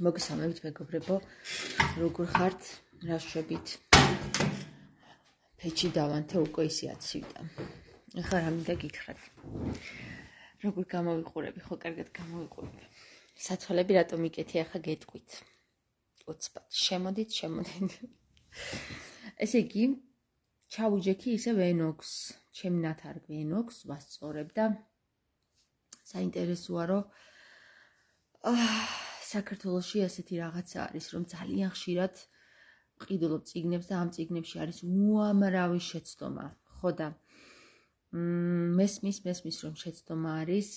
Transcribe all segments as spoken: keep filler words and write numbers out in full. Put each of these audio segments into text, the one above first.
მოგესალმებით მეგობრებო, როგორ ხართ, რა შვებით? ფეჩი დავანთე უკვე ისე აცივდა. ეხლა რა მინდა გითხრათ. როგორ გამოვიყურები, ხო კარგად გამოვიყურები. საცვალები რატომ იკეთი, ახლა გეტყვით. ოცბად, შემოდით, შემოდით. ესე იგი, ჩავუჯექი ისე ვენოქს, ჩემი ნათარგ ვენოქს, ვასწორებ და საინტერესოა, რომ საქართველოში ასეთი რაღაცა არის, რომ ძალიან ხშირად ვყიდულობ წიგნებს და ამ წიგნებში არის უამრავი შეცდომა, ხო და მესმის, მესმის რომ შეცდომა არის,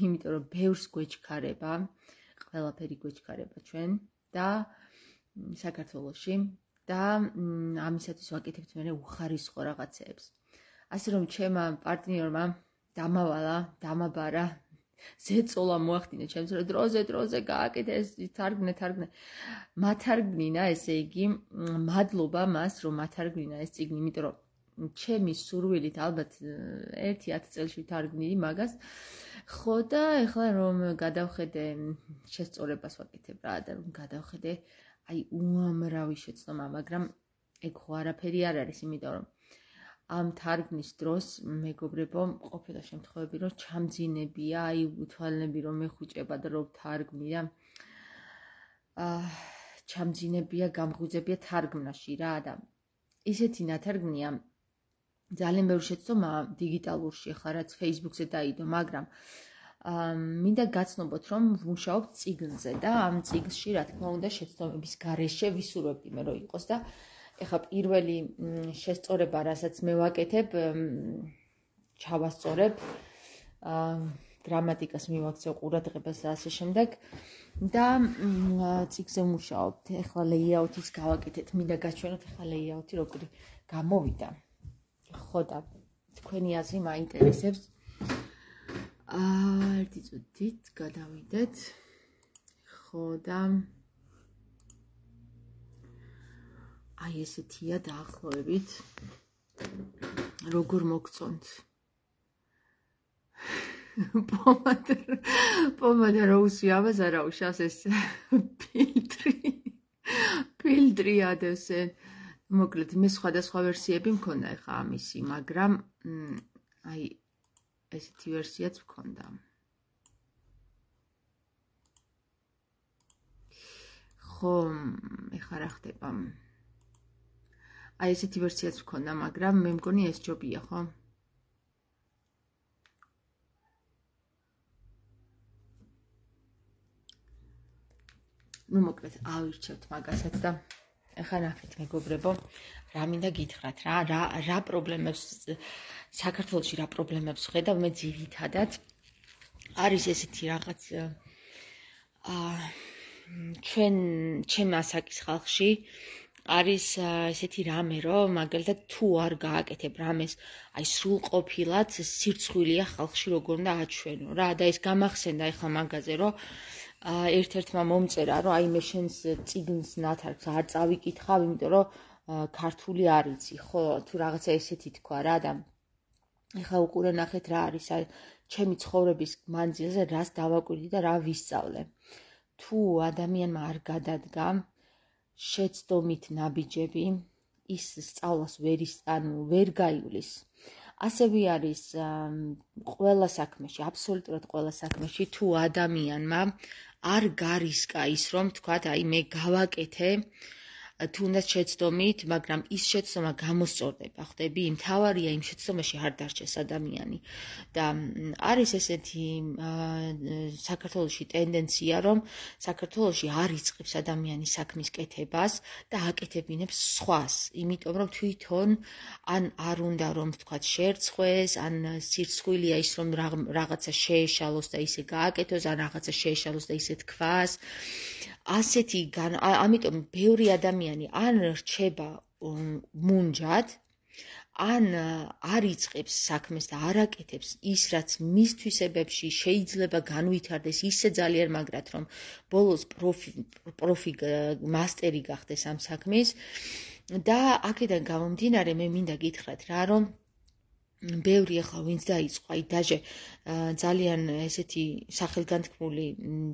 იმიტომ რომ ბევრს გვეჩქარება, ყველაფერი გვეჩქარება ჩვენ და საქართველოში და ამისათვის ვაკეთებთ მე უხარისხო რაღაცეებს. ასე რომ ჩემმა პარტნიორმა დამავალა, დამაბარა ზეწოლა მოახდინა ჩემს რომ დროზე დროზე გააკეთე ეს თარგმნე თარგმნე მათარგმნინა ესე იგი მადლობა მას რომ მათარგმნინა ეს წიგნი იმიტომ რომ ჩემი სურვილით ალბათ ერთი ათი წელში ვთარგმნიდი მაგას ხო და ეხლა რომ გადავხედე შესწორებას ვაკეთებ რა და რომ გადავხედე აი უამრავი შეცდომა მაგრამ ეგ ხო არაფერი არ არის იმიტომ რომ ამ თარგმნის დროს მეგობრებო ყოფილა შემთხვევები რომ ჩამძინებია აი უთვალნები რომ მეხუჭება და რომ თარგმნი და აა ჩამძინებია გამღვიძებია თარგმნაში რა და ისეთი ნათარგმნია ძალიან ბევრი შეცდომა დიგიტალურში ახლა რაც Facebook-ზე დაიდო მაგრამ აა მინდა გაცნობოთ რომ ვმუშაობ წიგნზე და ამ წიგნში რა თქმა უნდა შეცდომების გარეშე ვისურვებდი მე რომ იყოს და ეხლა პირველი შესწორება, რასაც მე ვაკეთებ, ჩავასწორებ, გრამატიკას მივაქცევ ყურადღებას და ასე შემდეგ და წიგნზე ვმუშაობ. ეხლა ლეიაუთის გავაკეთეთ, მინდა გაჩვენოთ ეხლა ლეიაუთი როგორი გამოვიდა. ხო და თქვენი აზრი მაინტერესებს. აა ერთი წუთით გადავიდეთ. ხო და აი ესეთია დაახლოებით როგორ მოგწონთ პომადა პომადა როუსი ამას არა უშავს ეს ფილტრი ფილტრი ადევსე მოკლედ მე სხვადასხვა ვერსიები მქონდა ეხა ამისი მაგრამ აი ესეთი ვერსიაც მქონდა ხო ეხა რა ხდება აი ესეთი ვერსიაც მქონდა, მაგრამ მე მგონი ეს ჯობია, ხო? ნუ მოკლედ ავირჩევთ მაგასაც და ახლა ნახეთ მეგობრებო, რა მინდა გითხრათ, რა რა რა პრობლემებს საქართველოში რა პრობლემებს ვხედავ მე ძირითადად არის ესეთი რაღაც აა ჩვენ ჩემ ასაკის ხალხში არის ესეთი რამე, რომ მაგალითად თუ არ გააკეთებ რამეს, აი სრულყოფილად სირცხვილია ხალხში როგორ უნდა აჩვენო რა და ეს გამახსენდა ეხლა მაგაზე, რომ ერთ-ერთმა მომწერა, რომ აი მე შენს წიგნს ნათარგს არ წავიკითხავ, იმიტომ რომ ქართული არ იცი, ხო, თუ რაღაცა ესეთი თქვა რა და ეხლა უყურე ნახეთ რა არის, აი ჩემი ცხოვრების მანძილზე რას დავაკვირდი და რა ვისწავლე. თუ ადამიანმა არ გადადგა შეცდომით ნაბიჯები ის სწავლას ვერ ანუ ვერ გაივლის. ასევე არის ყველა საქმეში, აბსოლუტურად ყველა საქმეში თუ ადამიანმა არ გარისკა ის რომ თქვათ აი მე გავაკეთე თუნდაც შეცდომით, მაგრამ ის შეცდომა გამოსწორდება, ხვდები? მთავარია იმ შეცდომაში არ დარჩეს ადამიანი. და არის ესეთი საქართველოში ტენდენცია, რომ საქართველოში არ იწყებს ადამიანი საქმის კეთებას და აკეთებინებს სხვას, იმიტომ რომ თვითონ ან არ უნდა რომ თქვათ შერცხვეს, ან სირცხვილია ის რომ რაღაცა შეეშალოს და ისე გააკეთოს, ან რაღაცა შეეშალოს და ისე თქვას. ასეთი ამიტომ ბევრი ადამიანი ან რჩება მუნჯად, ან არ იწყებს საქმეს და არ აკეთებს ის, რაც მის თვისებებში შეიძლება განვითარდეს ისე ძალიან მაგრად, რომ ბოლოს პროფი პროფი მასტერი გახდეს ამ საქმის და აქედან გამომდინარე მე მინდა გითხრათ რა, რომ ბევრი ახლა ვინც დაიწყო, აი დაჟე ძალიან ესეთი სახელგანთქმული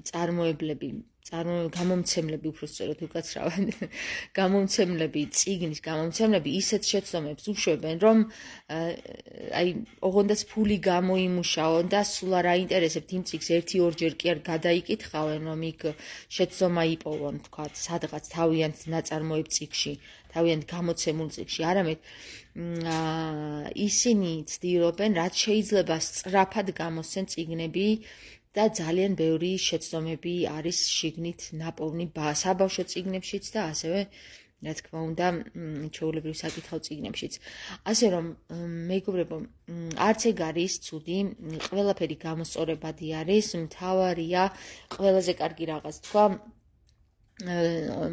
წარმოებლები, გამომცემლები უფრო სწორად უკაცრავად, გამომცემლები, წიგნის გამომცემლები ისეთ შეცდომებს უშვებენ, რომ აი ოღონდაც ფული გამოიმუშაონ და სულ არ აინტერესებთ იმ წიგნს ერთი ორჯერ კი არ გადაიკითხავენ, რომ იქ შეცდომა იპოვონ, თქვათ, სადღაც თავიანთ ნაწარმოებ წიგნში, თავიანთ გამოცემულ წიგნში, არამედ ისინი ცდილობენ, რაც შეიძლება სწრაფად გამოსცენ წიგნები და ძალიან ბევრი შეცდომები არის შიგნით ნაპოვნი საბავშვო წიგნებშიც და ასევე, რა თქმა უნდა, ჩვეულებრივ საკითხავ წიგნებშიც. ასე რომ, მეგობრებო, არც ეგ არის ცუდი, ყველაფერი გამოსწორებადი არის, მთავარია, ყველაზე კარგი რაღაც თქვა,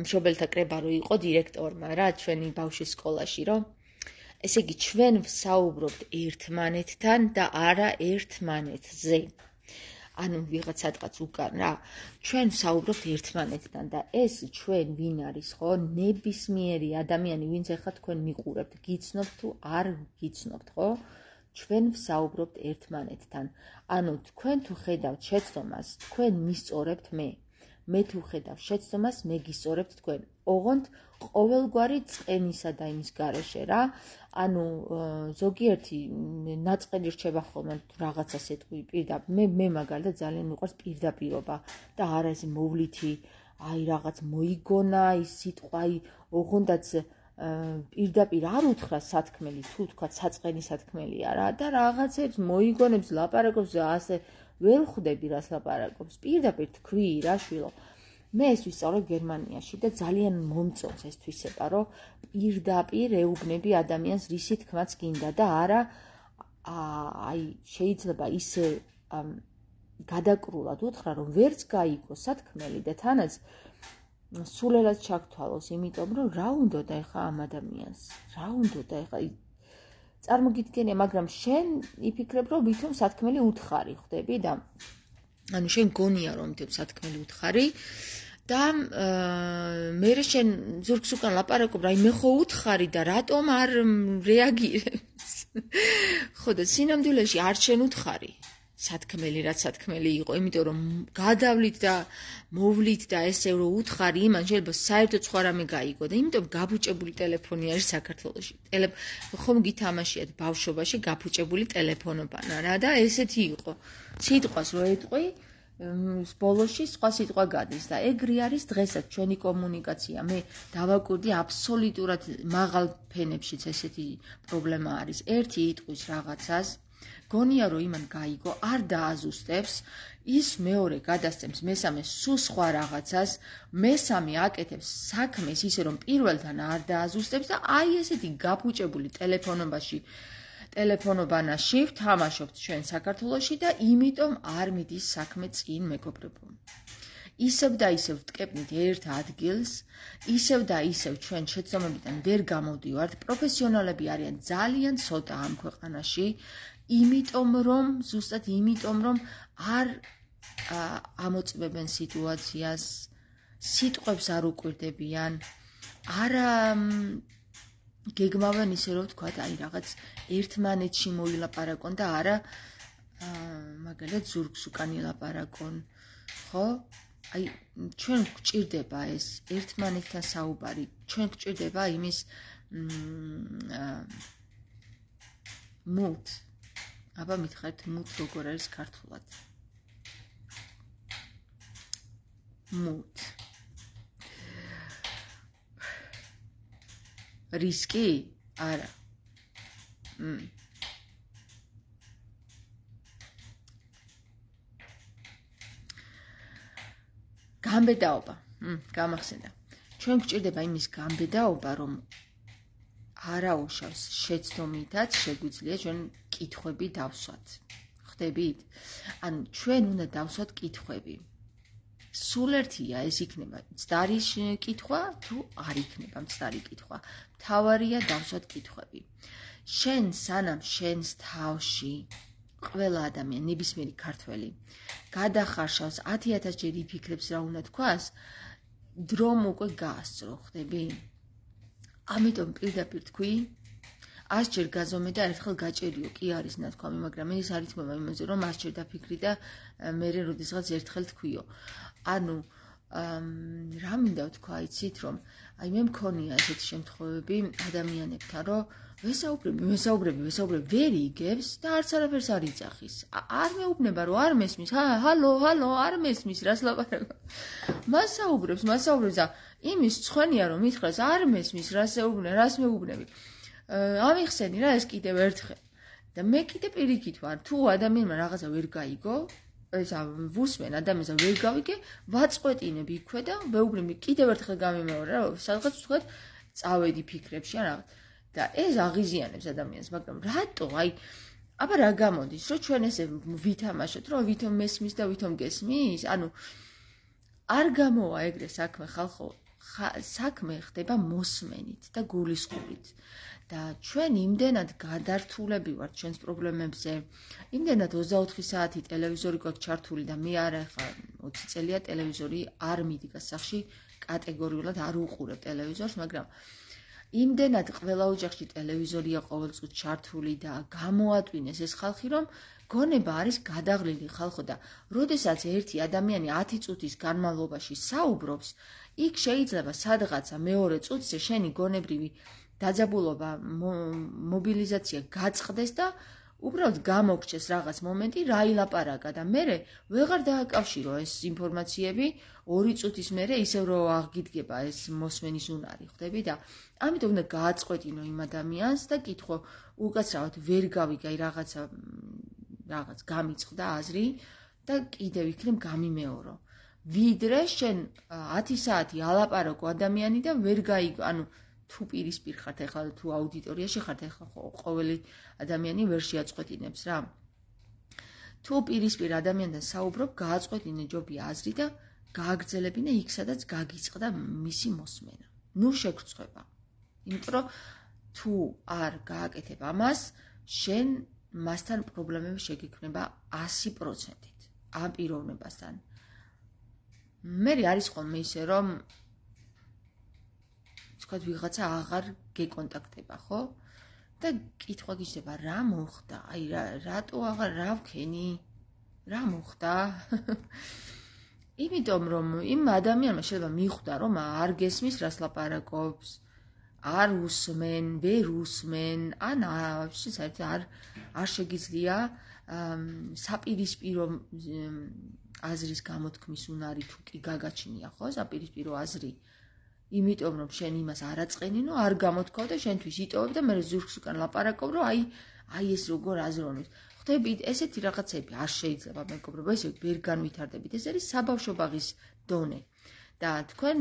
მშობელთა კრება რო იყო დირექტორმა რა, ჩვენი ბავშვის სკოლაში, რომ ესე იგი, ჩვენ ვსაუბრობთ ერთმანეთთან და არა ერთმანეთზე. ანუ ვიღაც სადღაც უკან რა, ჩვენ ვსაუბრობთ ერთმანეთთან და ეს ჩვენ ვინ არის, ხო? ნებისმიერი ადამიანი, ვინც ახლა თქვენ მიყურებთ, გიცნობთ თუ არ გიცნობთ, ხო? ჩვენ ვსაუბრობთ ერთმანეთთან. ანუ თქვენ თუ ხედავთ შეცდომას, თქვენ მისწორებთ მე. მე თუ ხედავ შეცდომას, მე გისწორებთ თქვენ. ოღონდ ყოველგვარი წყენისა და იმის გარეშე რა. ანუ ზოგიერთი ნაწყენი რჩება ხოლმე რაღაცას ეტყვი პირდაპირ. მე მე მაგალითად ძალიან მიყვარს პირდაპირობა და არა ეს მოვლითი, აი რაღაც მოიგონა, ის სიტყვა, აი ოღონდაც პირდაპირ არ უთხრა სათქმელი, თუ თქვა საწყენი სათქმელია რა და რაღაცებს მოიგონებს, ლაპარაკობს და ასე ვერ ხვდები რას ლაპარაკობს. პირდაპირ თქვი რა შვილო. მე ეს ვისწავლე გერმანიაში და ძალიან მომწონს ეს თვისება, რომ პირდაპირ ეუბნები ადამიანს რისი თქმაც გინდა და არა აი შეიძლება ისე გადაკრულად უთხრა, რომ ვერც გაიგო სათქმელი და თანაც სულელად ჩაგთვალოს, იმიტომ რომ რა უნდოდა ეხა ამ ადამიანს, რა უნდოდა ეხა წარმოგიდგენია, მაგრამ შენ იფიქრებ, რომ ვითომ სათქმელი უთხარი, ხვდები და ანუ შენ გონია, რომ ვითომ სათქმელი უთხარი და მე შენ ზურგს უკან ლაპარაკობ, რა მე ხო უთხარი და რატომ არ რეაგირებს? ხო და სინამდვილეში არ შენ უთხარი. სათქმელი რაც სათქმელი იყო, იმიტომ რომ გადავლით და მოვლით და ესე რომ უთხარი იმან შეიძლება საერთოდ სხვა რამე გაიგო და იმიტომ გაბუჭებული ტელეფონი არის საქართველოში. ხომ გითამაშიათ ბავშვობაში გაბუჭებული ტელეფონობანა რა და ესეთი იყო. სიტყვას რო ეტყვი, ბოლოში სხვა სიტყვა გადის და ეგრე არის დღესაც ჩვენი კომუნიკაცია. მე დავაკვირდი აბსოლუტურად მაღალ ფენებშიც ესეთი პრობლემა არის. ერთი იტყვის რაღაცას გონია რომ იმან გაიგო, არ დააზუსტებს, ის მეორე გადასცემს მესამეს სულ სხვა რაღაცას, მესამე აკეთებს საქმეს ისე რომ პირველთან არ დააზუსტებს და აი ესეთი გაფუჭებული ტელეფონობაში, ტელეფონობანაში ვთამაშობთ ჩვენ საქართველოში და იმიტომ არ მიდის საქმე წინ, მეგობრებო. ისევ და ისევ ვტკეპნით ერთ ადგილს, ისევ და ისევ ჩვენ შეცდომებიდან ვერ გამოვდივართ, პროფესიონალები არიან ძალიან ცოტა ამ ქვეყანაში, იმიტომ რომ, ზუსტად იმიტომ რომ არ ამოწმებენ სიტუაციას, სიტყვებს არ უკვირდებიან, არა გეგმავენ ისე რომ თქვათ, აი რაღაც ერთმანეთში მოილაპარაკონ და არა მაგალითად ზურგს უკან ილაპარაკონ, ხო? აი ჩვენ გვჭირდება ეს ერთმანეთთან საუბარი, ჩვენ გვჭირდება იმის მუთ. აბა მითხარით მუთ როგორ არის ქართულად? მუთ. რისკი? არა. მ. გამბედაობა. მ, გამახსენდა. ჩვენ გვჭირდება იმის გამბედაობა, რომ არაუშავს შეცდომითაც შეგვიძლია ჩვენ კითხვები დავსვათ. ხდებით? ანუ ჩვენ უნდა დავსვათ კითხვები. სულ ერთია ეს იქნება მცდარი კითხვა თუ არ იქნება მცდარი კითხვა. მთავარია დავსვათ კითხვები. შენ სანამ შენს თავში ყველა ადამიანი, ნებისმიერი ქართველი გადახარშავს ათი ათას ჯერ იფიქრებს რა უნდა თქვას, დრომ უკვე გაასწრო, ხდები? ამიტომ პირდაპირ თქვი, ასჯერ გაზომე და ერთხელ გაჭერიო, კი არის ნათქვამი, მაგრამ ეს არ ითქმება იმაზე, რომ ასჯერ დაფიქრი და მე როდესღაც ერთხელ თქვიო. ანუ რა მინდა ვთქვა, იცით, რომ აი მე მქონია ესეთი შემთხვევები ადამიანებთან, რომ ვესაუბრები, ვესაუბრები, ვესაუბრები, ვერ იგებს და არც არაფერს არ იძახის. არ მეუბნება, რომ არ მესმის. ჰალო, ჰალო, არ მესმის, რას ლაპარაკობ. მასაუბრებს, მასაუბრებს და იმის ცხენია, რომ მითხრას, არ მესმის, რას ეუბნე, რას მეუბნები. ამიხსენი რა ეს კიდევ ერთხელ. და მე კიდე პირიქით ვარ, თუ ადამიანმა რაღაცა ვერ გაიგო, ესა ვუსმენ ადამიანს ვერ გავიგე, ვაწყვეტინებ იქვე და მეუბნები კიდევ ერთხელ გამიმეორე რა, სადღაც ვთქვათ, წავედი ფიქრებში ან რაღაც. და ეს აღიზიანებს ადამიანს, მაგრამ რატო? აი, აბა რა გამოდის, რომ ჩვენ ესე ვითამაშოთ, რომ ვითომ მესმის და ვითომ გესმის? ანუ არ გამოვა ეგრე საქმე ხალხო, საქმე ხდება მოსმენით და გულისხმობით. და ჩვენ იმდენად გადართულები ვართ ჩვენს პრობლემებზე, იმდენად ოცდაოთხი საათი ტელევიზორი გვაქვს ჩართული და მე არა ხა ოცი წელია ტელევიზორი არ მიდგა სახში, კატეგორიულად არ უყურებ ტელევიზორს, მაგრამ იმდენად ყველა ოჯახში ტელევიზორია ყოველწუთს ჩართული და გამოატვინეს ეს ხალხი, რომ გონება არის გადაღლილი ხალხო და როდესაც ერთი ადამიანი ათი წუთის განმავლობაში საუბრობს, იქ შეიძლება სადღაცა მეორე წუთზე შენი გონებრივი დაძაბულობა, მობილიზაცია გაწყდეს და უბრალოდ გამოგჩეს რაღაც მომენტი, რა ილაპარაკა და მე ვეღარ დააკავშირო ეს ინფორმაციები ორი წუთის მერე ისევ რომ აღგიდგება ეს მოსმენის უნარი, ხვდები და ამიტომ უნდა გააწყვეტინო იმ ადამიანს და კითხო უკაცრავად ვერ გავიგე რაღაცა რაღაც გამიწყდა აზრი და კიდევ იქნებ გამიმეორო. ვიდრე შენ ათი საათი ალაპარაკო ადამიანი და ვერ გაიგო, ანუ თუ პირისპირ ხართ ახლა თუ აუდიტორიაში ხართ ახლა ყოველი ადამიანი ვერ შეაწყვეტინებს რა. თუ პირისპირ ადამიანთან საუბრობ, გააწყვეტინე ჯობია აზრი და გააგრძელებინე იქ სადაც გაგიწყდა მისი მოსმენა. ნუ შეგწყვება. იმიტომ რომ თუ არ გააკეთებ ამას, შენ მასთან პრობლემები შეგექმნება ასი პროცენტით ამ პიროვნებასთან. მე არის ხოლმე ისე რომ თქვათ ვიღაცა აღარ გეკონტაქტება, ხო? და კითხვა გიჩნდება, რა მოხდა? აი რატო აღარ რა ვქენი? რა მოხდა? იმიტომ რომ იმ ადამიანმა შეიძლება მიხვდა რომ არ გესმის რას ლაპარაკობს, არ უსმენ, ვერ უსმენ, ან ვაფშე საერთოდ არ არ შეგიძლია საპირისპირო აზრის გამოთქმის უნარი თუ კი გაგაჩნია, ხო? საპირისპირო აზრი. იმიტომ რომ შენ იმას არ აწყენინო, არ გამოთქვავ და შენთვის იტოვებ და მე ზურგს უკან ლაპარაკობ, რომ აი აი ეს როგორ აზროვნებს. ხვდებით, ესეთი რაღაცები არ შეიძლება მეგობრებო, ესე ვერ განვითარდებით. ეს არის საბავშვო ბაღის დონე. და თქვენ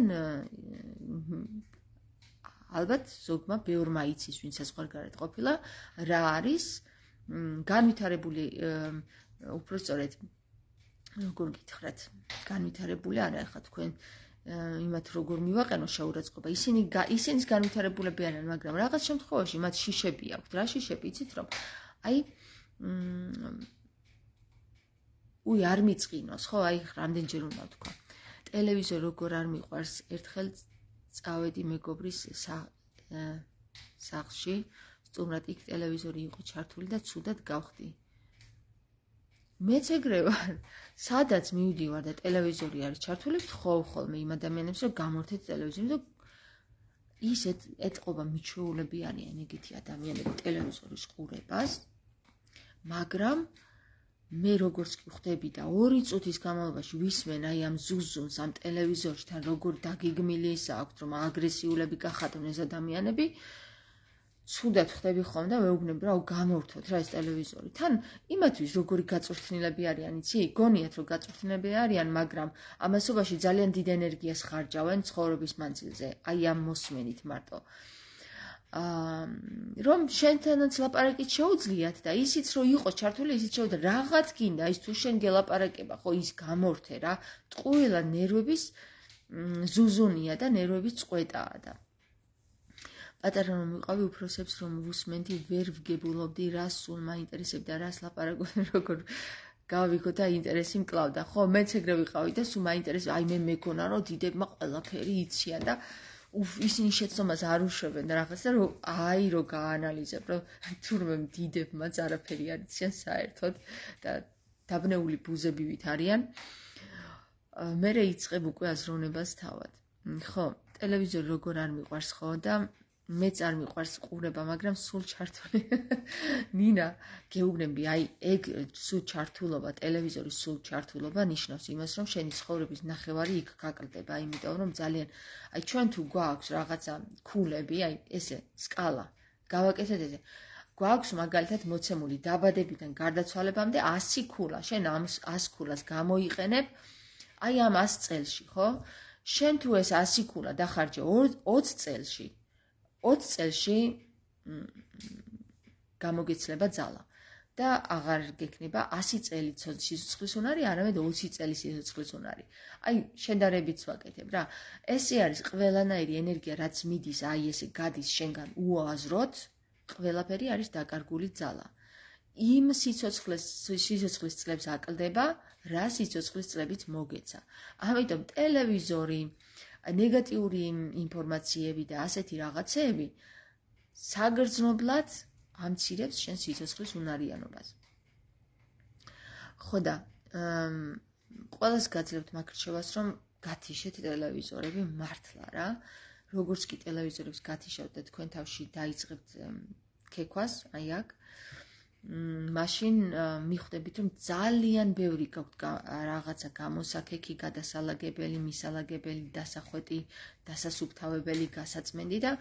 ალბათ ზოგმა ბევრმა იცის, ვინც საზღვარგარეთ ყოფილა, რა არის განვითარებული, უფრო სწორედ როგორ გითხრათ, განვითარებული არა ახლა თქვენ იმათ როგორ მივაყენო შეურაცხყოფა. ისინი ისინიც განვითარებულები არიან, მაგრამ რაღაც შემთხვევაში მათ შიშები აქვთ. რა შიშები იცით რომ აი უი არ მიწყინოს, ხო? აი რამდენჯერ უნდა ვთქვა. ტელევიზორი როგორ არ მიყვარს, ერთხელ წავედი მეგობრის სახლში, სტუმრად იქ ტელევიზორი იყო ჩართული და ცუდად გავხდი. მეც ეგრე ვარ, სადაც მივდივარ და ტელევიზორი არის ჩართული, ვთხოვ ხოლმე იმ ადამიანებს, რომ გამორთეთ ტელევიზორი და ისეთ ეტყობა მიჩვეულები არიან ეგეთი ადამიანები ტელევიზორის ყურებას, მაგრამ მე როგორც კი ხვდები და ორი წუთის განმავლობაში ვისმენ აი ამ ზუზუნს ამ ტელევიზორთან როგორ დაგიგმილისა აქვთ რომ აგრესიულები გახადონ ეს ადამიანები, ცუდად ხვდები ხოლმე და ვეუბნები რა გამორთოთ რა ეს ტელევიზორი. თან იმათთვის როგორი გაწვრთნილები არიან, იცი? გონიათ რომ გაწვრთნილები არიან, მაგრამ ამასობაში ძალიან დიდ ენერგიას ხარჯავენ ცხოვრების მანძილზე, აი ამ მოსმენით მარტო. აა რომ შენთანაც ლაპარაკით შეუძლიათ და ისიც რომ იყოს ჩართული, ისიც შეუძლია რაღაც გინდა, ის თუ შენ გელაპარაკება, ხო ის გამორთე რა. ტყუილა ნერვების ზუზუნია და ნერვების წყვეტაა და პატარა რომ ვიყავი უფროსებს რომ ვუსმენდი, ვერ ვგებულობდი რას სულ მაინტერესებდა, რას ლაპარაკობდნენ, როგორ გავიგო და ინტერესი მკლავდა. ხო, მეც ეგრე ვიყავი და სულ მაინტერესებდა, აი მე მეგონა რომ დიდებმა ყველაფერი იციან და უფ ისინი შეცდომას არ უშვებენ რაღაცა რომ აი რო გაანალიზებ რომ თურმე დიდებმაც არაფერი არ იციან საერთოდ და დაბნეული ბუზებივით არიან მე რეიწყებ უკვე აზროვნებას თავად ხო ტელევიზორი როგორ არ მიყვარს ხო და მეც არ მიყვარს ყურება მაგრამ სულ ჩართული ნინა გეუბნები აი ეგ სულ ჩართულობა ტელევიზორის სულ ჩართულობა ნიშნავს იმას რომ შენი ცხოვრების ნახევარი იქ გაკლდება იმიტომ რომ ძალიან აი ჩვენ თუ გვაქვს რაღაცა ქულები აი ესე სკალა გავაკეთეთ ესე გვაქვს მაგალითად მოცემული დაბადებიდან გარდაცვალებამდე ასი ქულა შენ ამ ასი ქულას გამოიყენებ აი ამ ასი წელში ხო შენ თუ ეს ასი ქულა დახარჯე ოცი წელში ოცი წელში გამოგეცლება ძალა და აღარ გექნება ასი წელი სიცოცხლის უნარი, არამედ ოცი წელი სიცოცხლის უნარი. აი, შედარებით ვაკეთებ რა. ესე არის ყველანაირი ენერგია, რაც მიდის, აი ესე გადის შენგან უაზროდ, ყველაფერი არის დაკარგული ძალა. იმ სიცოცხლის სიცოცხლის წლებს აკლდება, რა სიცოცხლის წლებიც მოგეცა. ამიტომ ტელევიზორი ნეგატიური ინფორმაციები და ასეთი რაღაცეები საგრძნობლად ამცირებს შენ სიცოცხლის უნარიანობას. ხო და ყველას გაძლევთ მაკრჩევას რომ გათიშეთ ტელევიზორები მართლა რა. როგორც კი ტელევიზორებს გათიშავთ და თქვენ თავში დაიწყებთ ქექვას, აი აქ მაშინ მიხვდებით რომ ძალიან ბევრი გაქვთ რაღაცა გამოსაქექი, გადასალაგებელი, მისალაგებელი, დასახვეტი, დასასუფთავებელი, გასაწმენდი და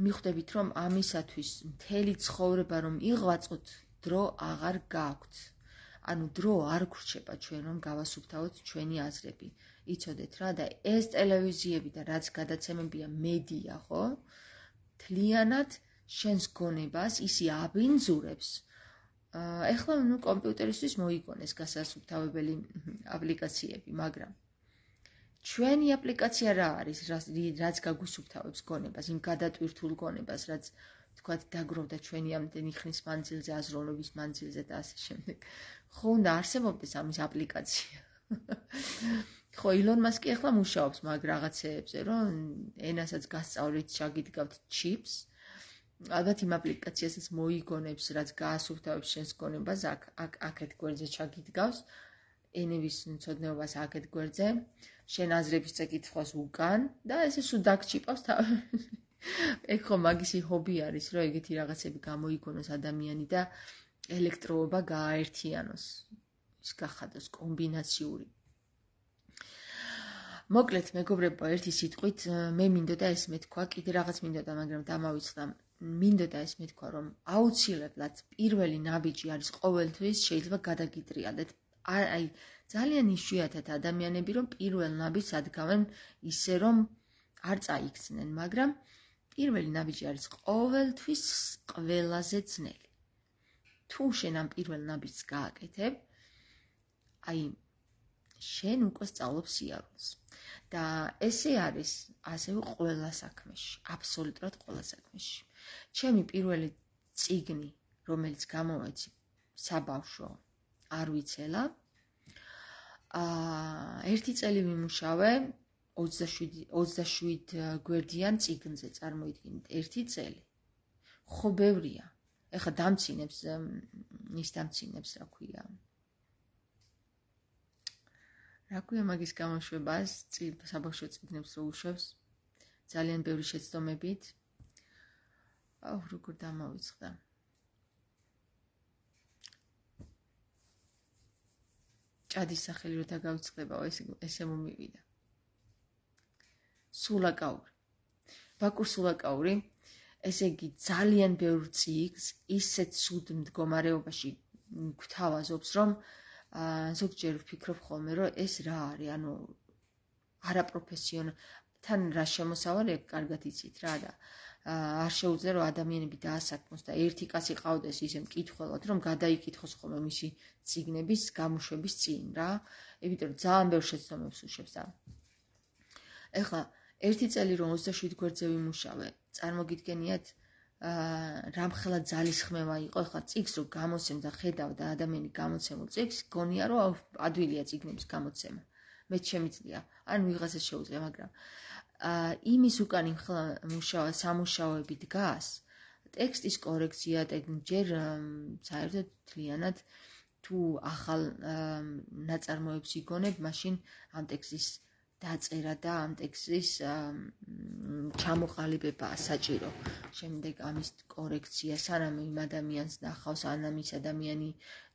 მიხვდებით რომ ამისათვის მთელი ცხოვრება რომ იღვაწოთ, დრო აღარ გაქვთ. ანუ დრო არ გრჩება ჩვენ რომ გავასუფთავოთ ჩვენი აზრები. იცოდეთ რა და ეს ტელევიზიები და რაც გადაცემებია მედია, ხო? თლიანად შენს გონებას ისი აბინძურებს. ეხლა ნუ კომპიუტერისთვის მოიგონეს გასასუფთავებელი აპლიკაციები, მაგრამ ჩვენი აპლიკაცია რა არის, რაც გაგუსუფთავებს გონებას, იმ გადატვირთულ გონებას, რაც თქვათ დაგროვდა ჩვენი ამდენი ხნის მანძილზე, აზროვნების მანძილზე და ასე შემდეგ. ხო, უნდა არსებობდეს ამის აპლიკაცია. ხო, ილონ მასკი ახლა მუშაობს მაგ რაღაცეებზე, რომ ენასაც გასწავლით, ჩაგიდგავთ ჩიპს. ალბათ იმ აპლიკაციასაც მოიგონებს, რაც გაასუფთავებს შენს გონებას, აქ აქ აქეთ გვერდზე ჩაგიდგავს, ენების მცოდნეობას აქეთ გვერდზე, შენ აზრების წეკითხვას უკან და ესე სულ დაგჩიპავს თავი. ეგ ხო მაგისი ჰობი არის, რომ ეგეთი რაღაცები გამოიგონოს ადამიანი და ელექტროობა გააერთიანოს. ის გახადოს კომბინაციური. მოკლედ, მეგობრებო, ერთი სიტყვით, მე მინდოდა ეს მეთქვა, კიდე რაღაც მინდოდა, მაგრამ დამავიწყდა. მინდოდა ეს მეთქვა, რომ აუცილებლად პირველი ნაბიჯი არის ყოველთვის შეიძლება გადაგიტრიალდეთ. აი, ძალიან იშვიათად ადამიანები რომ პირველ ნაბიჯს ადგავენ ისე რომ არ წაიქცნენ, მაგრამ პირველი ნაბიჯი არის ყოველთვის ყველაზე ძნელი. თუ შენ ამ პირველ ნაბიჯს გააკეთებ, აი შენ უკვე სწავლობ სიარულს. და ესე არის ასევე ყველა საქმეში, აბსოლუტურად ყველა საქმეში. ჩემი პირველი წიგნი, რომელიც გამოვეცი საბავშვო, არ ვიცელა. აა ერთი წელი ვიმუშავე ოცდაშვიდ გვერდიან წიგნზე, წარმოიდგინეთ, ერთი წელი. ხო ბევრია. ეხლა დამცინებს, ის დამცინებს, რა ქვია. რა ქვია მაგის გამოშვებას, საბავშვო წიგნებს რო უშვებს, ძალიან ბევრი შეცდომებით. აუ, როგორ დამავიწყდა. ჭადის სახელი რო დაგავიწყდებაო, ესე მომივიდა. სულაკაური. ბაკურ სულაკაური, ესე იგი ძალიან ბევრ წიგნს ისეთ სუდ მდგომარეობაში გვთავაზობს, რომ ზოგჯერ ვფიქრობ ხოლმე, რომ ეს რა არის, ანუ არაპროფესიონალი, თან რა შემოსავალი, კარგად იცით რა და არ შეუძლია რომ ადამიანები დაასაქმოს და ერთი კაცი ყავდეს ისე მკითხველად, რომ გადაიკითხოს ხოლმე მისი წიგნების გამოშვების წინ რა. იმიტომ რომ ძალიან ბევრ შეცდომებს უშვებს და ეხლა ერთი წელი რომ ოცდაშვიდ გვერდზე ვიმუშავე, წარმოგიდგენიათ რამხელა ძალისხმევა იყო, ეხლა წიგნს რო გამოცემ და ხედავ და ადამიანი გამოცემულ წიგნს, გონია რომ ადვილია წიგნების გამოცემა. მეც შემიძლია, ან ვიღაცას შეუძლია, მაგრამ იმის უკან იმ ხელ სამუშაოები დგას, ტექსტის კორექცია, ჯერ საერთოდ მთლიანად თუ ახალ ნაწარმოებს იგონებ, მაშინ ამ ტექსტის დაწერა და ამ ტექსტის ჩამოყალიბებაა საჭირო. შემდეგ ამის კორექცია, სანამ იმ ადამიანს ნახავს, სანამ ის ადამიანი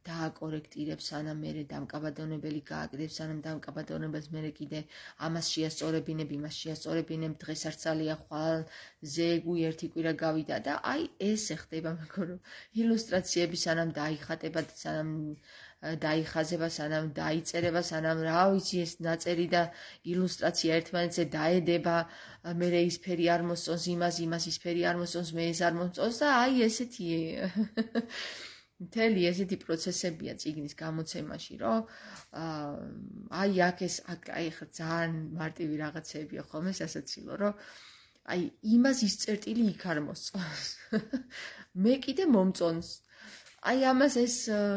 დააკორექტირებს, სანამ მერე დამკაბადონებელი გააკეთებს, სანამ დამკაბადონებელს მერე კიდე ამას შეასწორებინებ, იმას შეასწორებინებ, დღეს არ ძალია, ხვალ ზეგუი ერთი კვირა გავიდა და აი ესე ხდება, მეგობრებო. ილუსტრაციები სანამ დაიხატება, სანამ დაიხაზება, სანამ დაიწერება, სანამ რა ვიცი ეს ნაწერი და ილუსტრაცია ერთმანეთზე დაედება, მერე ის ფერი არ მოსწონს იმას, იმას ის ფერი არ მოსწონს, მე ეს არ მოსწონს და აი ესეთი მთელი ესეთი პროცესებია წიგნის გამოცემაში, რომ აი აქ ეს აი ხა ძალიან მარტივი რაღაცებია ხოლმე სასაცილო, რომ აი იმას ის წერტილი იქ არ მოსწონს. მე კიდე მომწონს. აი ამას ეს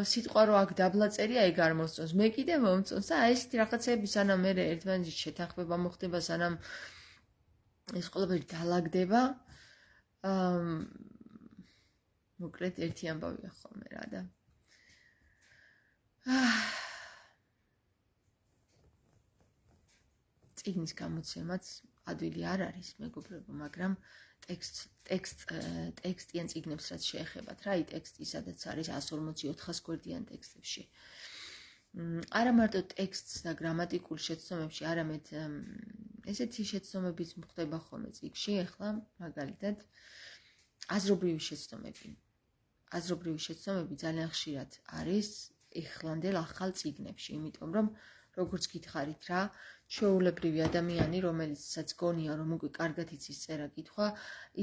სიტყვა რო აქ დაბლა წერია, ეგ არ მოსწონს. მე კიდე მომწონს და აი ესეთი რაღაცები სანამ მე ერთმანეთში შეთანხმება მოხდება, სანამ ეს ყველაფერი დალაგდება, მოკლედ ერთი ამბავია ხოლმე რა და წიგნის გამოცემაც ადვილი არ არის, მეგობრებო, მაგრამ ტექსტ ტექსტ ტექსტიან წიგნებს რაც შეეხებათ რა, აი ტექსტი სადაც არის εκατს ორმოცი ოთხას გვერდიან ტექსტებში. არა მარტო ტექსტს და გრამატიკულ შეცდომებში, არამედ ესეთი შეცდომებიც ხდება ხოლმე წიგნში, ახლა მაგალითად აზრობრივი შეცდომები. აზრობრივი შეცდომები ძალიან ხშირად არის ეხლანდელ ახალ წიგნებში, იმიტომ რომ როგორც გითხარით რა, ჩვეულებრივი ადამიანი, რომელიცაც გონია რომ უკვე კარგად იცის წერა-კითხვა,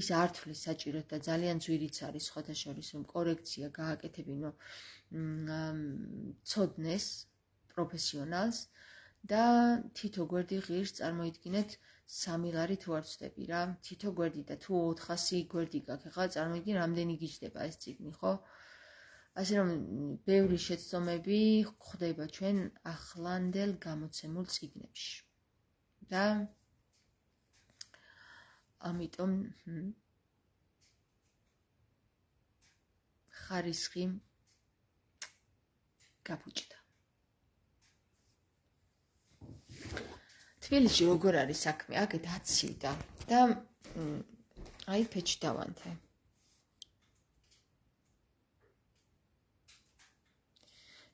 ის არ თვლის საჭიროდ და ძალიან ძვირიც არის სხვათა შორის რომ კორექცია გააკეთებინო ცოდნეს პროფესიონალს და თითო გვერდი ღირს წარმოიდგინეთ სამი ლარი თუ არ ვცდები რა, თითო გვერდი და თუ ოთხასი გვერდი გაქვს, ახლა წარმოიდგინე რამდენი გიждდება ეს წიგნი, ხო? ასე რომ ბევრი შეცდომები ხდება ჩვენ ახლანდელ გამოცემულ წიგნებში. და ამიტომ ხარისხი გაფუჭდა. თბილისში როგორ არის საქმე? აქეთ აცივდა და აი ფეჩი დავანთე.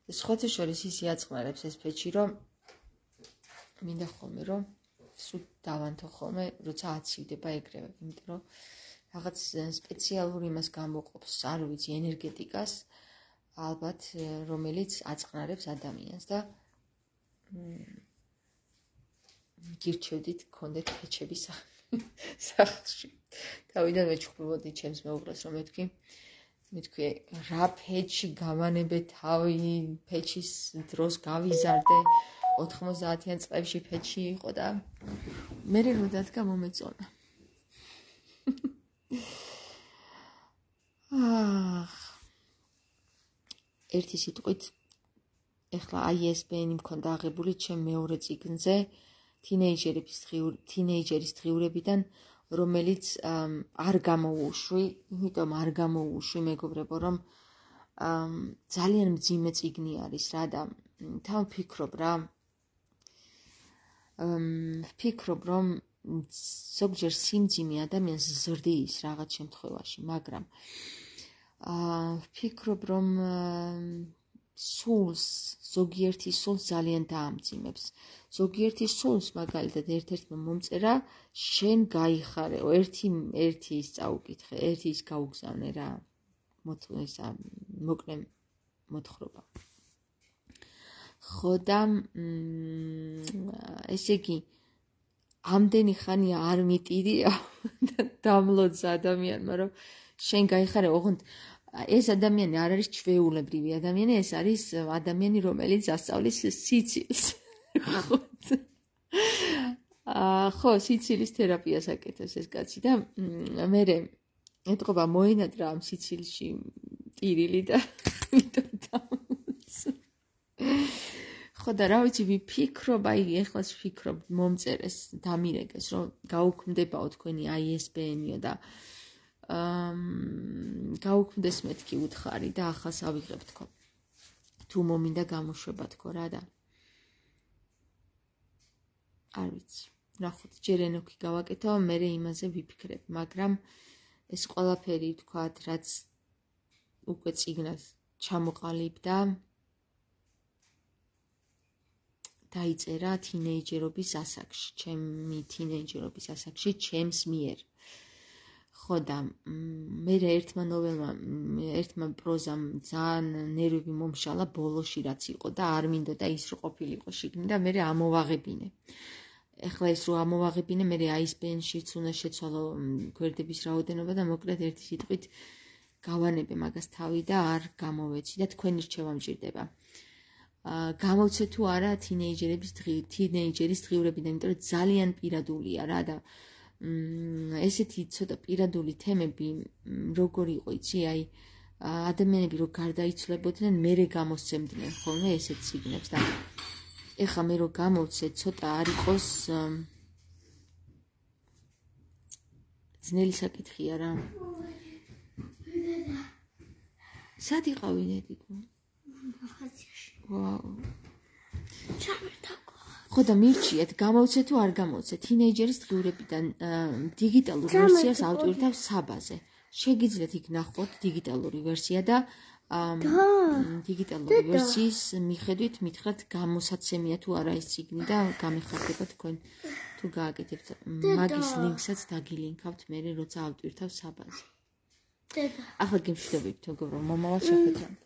სხვათა შორის ის იაწყნარებს ეს ფეჩი, რომ მინდა ხოლმე, რომ სულ დავანთო ხოლმე, როცა აცივდება ეგრევე, იმიტომ რომ რაღაც სპეციალური იმას გამოყოფს, არ ვიცი, ენერგეტიკას, ალბათ, რომელიც აწყნარებს ადამიანს და გირჩევდით გქონდეთ ფეჩები სახლში. თავიდან მეჩხუბობდი ჩემს მეუღლეს, რომ მეთქვი მეთქვი რა ფეჩი გავანებე თავი, ფეჩის დროს გავიზარდე, ოთხმოცდაათიან წლებში ფეჩი იყო და მე რო დადგა მომეწონა. აх. ერთი სიტყვით ეხლა აი ეს ბენი მქონდა აღებული ჩემ მეორე წიგნზე, თინეიჯერების დღიური თინეიჯერის დღიურებიდან, რომელიც არ გამოუშვი, იმიტომ არ გამოუშვი, მეგობრებო, რომ ძალიან მძიმე წიგნი არის რა და თან ვფიქრობ რა. ვფიქრობ, რომ ზოგჯერ სიმძიმე ადამიანს ზრდის რაღაც შემთხვევაში, მაგრამ ვფიქრობ, რომ სულს, ზოგიერთი სულს ძალიან დაამძიმებს. ზოგიერთი სულს, მაგალითად, ერთ-ერთმა მომწერა, შენ გაიხარეო, ერთი ერთი ის წაუკითხე, ერთი ის გაუგზავნე რა. ისა მოკლე მოთხრობა. ხო და ესე იგი, ამდენი ხანია არ მიტირია და დამლოძა ადამიანმა, რომ შენ გაიხარე, ოღონდ ეს ადამიანი არ არის ჩვეულებრივი ადამიანი, ეს არის ადამიანი, რომელიც ასწავლის სიცილს. ხო, სიცილის თერაპიას აკეთებს ეს კაცი და მე ეთყობა მოენადრა ამ სიცილში ტირილი და ამიტომ დამლოძა. ხო და რა ვიცი ვიფიქრობ, აი ეხლაც ვფიქრობ მომწერეს დამირეკეს, რომ გაუქმდებაო თქვენი აი ეს ბე ენ-იო და აა გაუქმდეს მეთქი უთხარი და ახალს ავიღებ თქო. თუ მომინდა გამოშვება თქო რა და არ ვიცი. ნახოთ, ჯერ ენოქი გავაკეთო, მერე იმაზე ვიფიქრებ, მაგრამ ეს ყველაფერი თქვათ, რაც უკვე წიგნად ჩამოყალიბდა დაიწერა თინეიჯერობის ასაკში, ჩემი თინეიჯერობის ასაკში, ჩემს მიერ. ხო და მე ერთმა ნოველმა, ერთმა პროზამ ძალიან ნერვები მომშალა ბოლოში რაც იყო და არ მინდოდა ის რო ყოფილიყო შიგნით და მე ამოვაღებინე. ეხლა ეს რო ამოვაღებინე, მე აი ეს ბე ენ-შიც უნდა შეცვალო გვერდების რაოდენობა და მოკლედ ერთი სიტყვით გავანებე მაგას თავი და არ გამოვეცი და თქვენი რჩევა მჭირდება. გამოვცე თუ არა თინეიჯერების თინეიჯერის დღიურებიდან, იმიტომ რომ ძალიან პირადულია რა და ესეთი ცოტა პირადული თემები როგორ იყო იცი, აი ადამიანები რო გარდაიცვლებოდნენ, მერე გამოსცემდნენ ხოლმე ესეთ ციგნებს და ეხლა მე რო გამოვცე, ცოტა არ იყოს ძნელი საკითხია რა. სად იყავი დედიკო? ვაუ. ხო და მირჩიეთ, გამოვცე თუ არ გამოვცე, თინეიჯერის დღიურებიდან დიგიტალურ ვერსიას ავტვირთავს საბაზე. შეგიძლიათ იქ ნახოთ დიგიტალური ვერსია და დიგიტალური ვერსიის მიხედვით მითხრათ გამოსაცემია თუ არა ეს ციგნი და გამიხარდება თქვენ თუ გააკეთებთ. მაგის ლინკსაც დაგილინკავთ მე როცა ავტვირთავ საბაზე. ახლა გემშვიდობებით მეგობრო, მომავალ შეხვედრამდე.